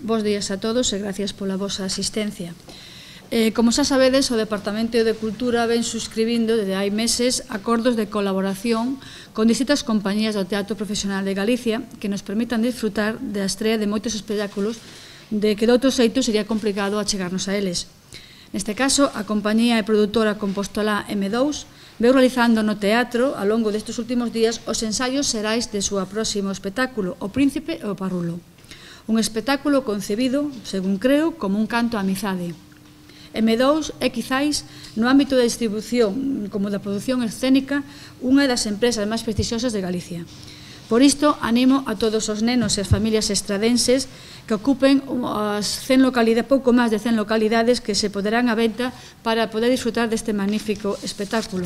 Bos días a todos e gracias pola vosa asistencia. Como xa sabedes, o Departamento de Cultura ven suscribindo desde hai meses acordos de colaboración con distintas compañías do Teatro Profesional de Galicia que nos permitan disfrutar da estrea de moitos espectáculos de que de outro xeito sería complicado achegarnos a eles. Neste caso, a compañía e produtora Compostolá M2 veu realizando no teatro, ao longo destes últimos días, os ensaios xerais de súa próximo espectáculo, O Príncipe e o Parrulo. Un espectáculo concebido, según creo, como un canto á amizade. M2 é, quizáis, no ámbito da distribución como da produción escénica, unha das empresas máis prestixiosas de Galicia. Por isto, animo a todos os nenos e as familias estradenses que ocupen as 100 localidades, pouco máis de 100 localidades que se poderán á venta para poder disfrutar deste magnífico espectáculo.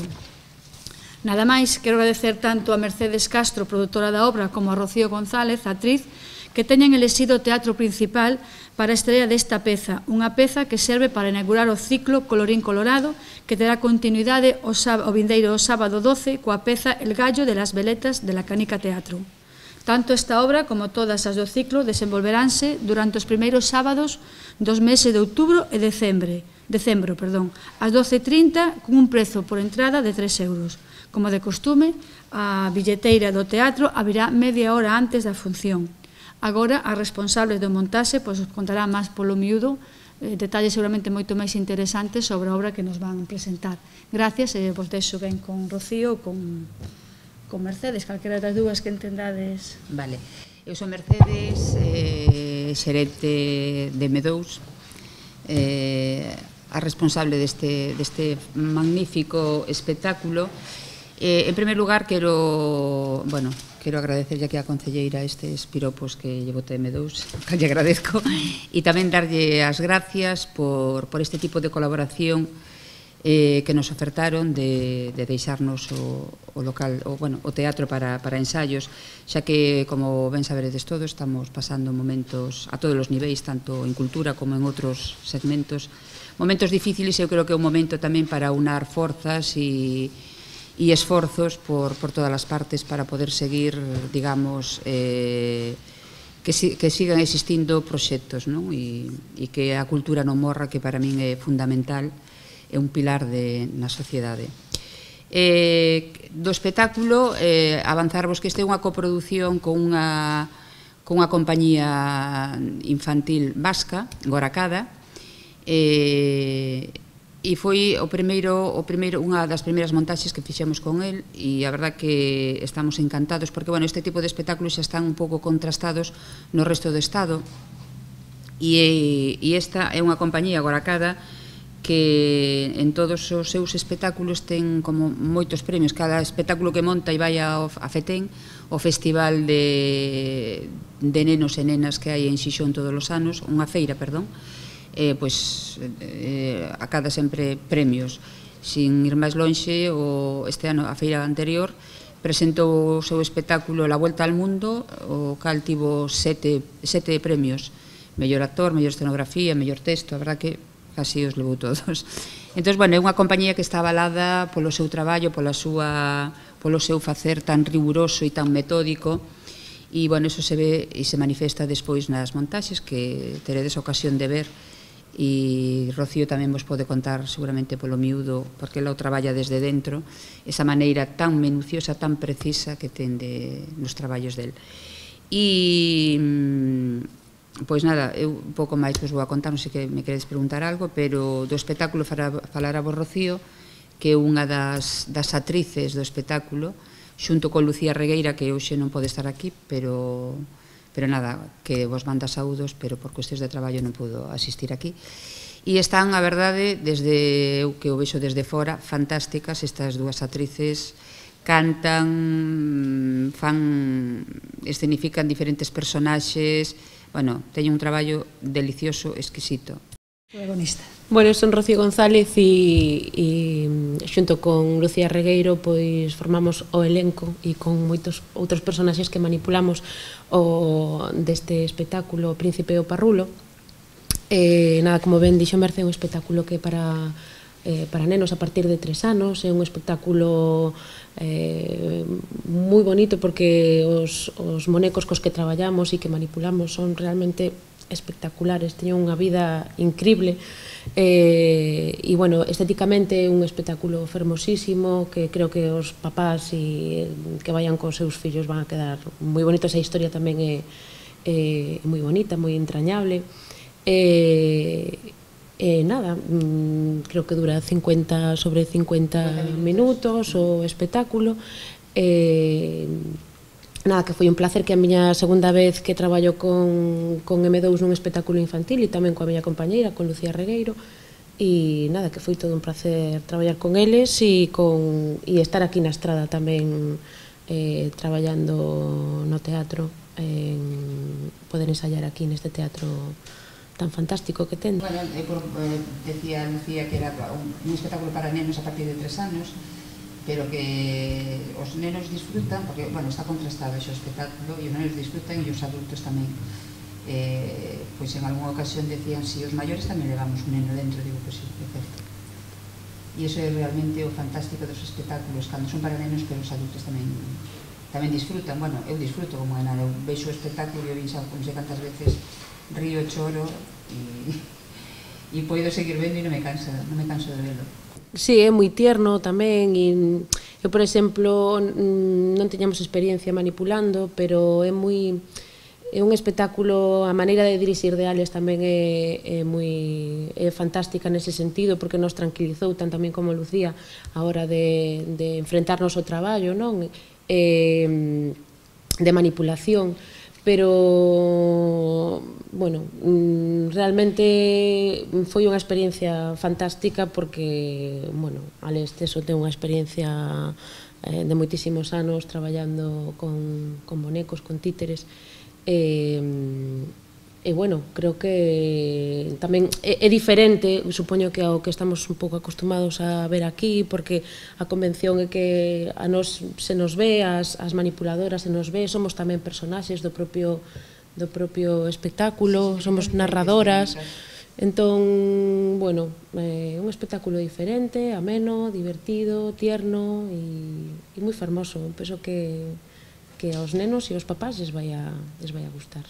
Nada máis, quero agradecer tanto a Mercedes Castro, produtora da obra, como a Rocío González, actriz, que teñen elixido o teatro principal para a estrela desta peza, unha peza que serve para inaugurar o ciclo Colorín Colorado, que terá continuidade o vindeiro sábado 12 coa peza El gallo de las veletas de la Canica Teatro. Tanto esta obra como todas as do ciclo desenvolveránse durante os primeiros sábados dos meses de outubro e decembro, ás 12:30, con un prezo por entrada de 3 euros. Como de costume, a billeteira do teatro abrirá media hora antes da función. Agora, as responsables do montaxe contarán máis polo miúdo, detalles seguramente moito máis interesantes sobre a obra que nos van presentar. Gracias e vos deixo ben con Rocío ou con Mercedes, calquera das dúas que entendades. Vale. Eu sou Mercedes, xerente de M2, a responsable deste magnífico espectáculo. En primer lugar, quero agradecerlle aquí a concelleira estes piropos que llevo de M2, que lle agradezco, e tamén darlle as gracias por este tipo de colaboración que nos ofertaron de deixarnos o local, o teatro para ensaios, xa que, como ben saberedes todos, estamos pasando momentos a todos os niveis, tanto en cultura como en outros segmentos, momentos difíciles. Eu creo que é un momento tamén para unar forzas e esforzos por todas as partes para poder seguir, digamos, que sigan existindo proxectos, e que a cultura non morra, que para min é fundamental, é un pilar na sociedade. Do espectáculo, avanzarvos que este é unha coproducción con unha compañía infantil vasca, Gorakada, e foi unha das primeiras montaxes que fixemos con el, e a verdad que estamos encantados porque, este tipo de espectáculos xa están un pouco contrastados no resto do Estado, e esta é unha compañía, Gorakada, que en todos os seus espectáculos ten como moitos premios. Cada espectáculo que monta e vai a FETEN, o festival de nenos e nenas que hai en Xixón todos os anos, unha feira, perdón, acada sempre premios. Sin ir máis lonxe, este ano, a feira anterior, presentou o seu espectáculo La Vuelta al Mundo, o cal tivo 7 premios: mellor actor, mellor escenografía, mellor texto. A verdad que casi os levou todos. Entón, é unha compañía que está avalada polo seu traballo, polo seu facer tan riguroso e tan metódico, e, eso se ve e se manifesta despois nas montaxes que teredes ocasión de ver, e Rocío tamén vos pode contar seguramente polo miúdo, porque ela o traballa desde dentro, esa maneira tan minuciosa, tan precisa que ten nos traballos del. Pois nada, eu un pouco máis vos vou a contar, non sei que me queredes preguntar algo, pero do espectáculo falará vos Rocío, que é unha das actrices do espectáculo, xunto con Lucía Regueira, que hoxe non pode estar aquí, pero nada, que vos manda saúdos, pero por cuestións de traballo non pudo asistir aquí. E están, a verdade, desde eu que o vexo desde fora, fantásticas estas dúas actrices. Cantan, escenifican diferentes personaxes. Teñen un traballo delicioso, exquisito. Protagonista. Eu son Rocío González e xunto con Lucía Regueiro formamos o elenco e con moitos outros personaxes que manipulamos deste espectáculo O Príncipe e o Parrulo. Nada, como ben dixo Merce, é un espectáculo que para nenos a partir de 3 anos, é un espectáculo moi bonito porque os monecos cos que traballamos e que manipulamos son realmente espectaculares, teñen unha vida increíble, e, bueno, estéticamente é un espectáculo fermosísimo que creo que os papás que vayan cos seus fillos van a quedar moi bonitos. A historia tamén é moi bonita, moi entrañable, nada, creo que dura 50 sobre 50 minutos o espectáculo. Nada, que foi un placer, que a miña segunda vez que traballo con M2 nun espectáculo infantil e tamén coa miña compañeira, con Lucía Regueiro, e nada, que foi todo un placer traballar con eles e estar aquí na Estrada tamén, traballando no teatro, poder ensayar aquí neste teatro tan fantástico que ten. Bueno, decía Lucía que era un espectáculo para nenos a partir de 3 anos, pero que os nenos disfrutan, porque, bueno, está contrastado ese espectáculo, e os nenos disfrutan e os adultos tamén. Pois en algunha ocasión decían, si os maiores tamén levamos un neno dentro, digo, pois sí, é certo. E iso é realmente o fantástico dos espectáculos, cando son para nenos, pero os adultos tamén disfrutan. Bueno, eu disfruto como é nada, eu veixo o espectáculo e eu non sei cantas veces río, choro e poido seguir vendo e non me canso de velo. Sí, é moi tierno tamén, e eu, por exemplo, non teñamos experiencia manipulando, pero é un espectáculo, a maneira de dirixir de Alex tamén é fantástica nese sentido, porque nos tranquilizou tan tamén como Lucía a hora de enfrentarnos ao traballo, non? De manipulación, pero, bueno, realmente foi unha experiencia fantástica, porque, bueno, Alex Teso ten unha experiencia de moitísimos anos traballando con bonecos, con títeres, e, bueno, creo que tamén é diferente, supoño que ao que estamos un pouco acostumados a ver aquí, porque a convención é que a nos se nos ve, as manipuladoras se nos ve, somos tamén personaxes do propio espectáculo, somos narradoras. Entón, bueno, un espectáculo diferente, ameno, divertido, tierno e moi fermoso. Penso que aos nenos e aos papás les vai a gustar.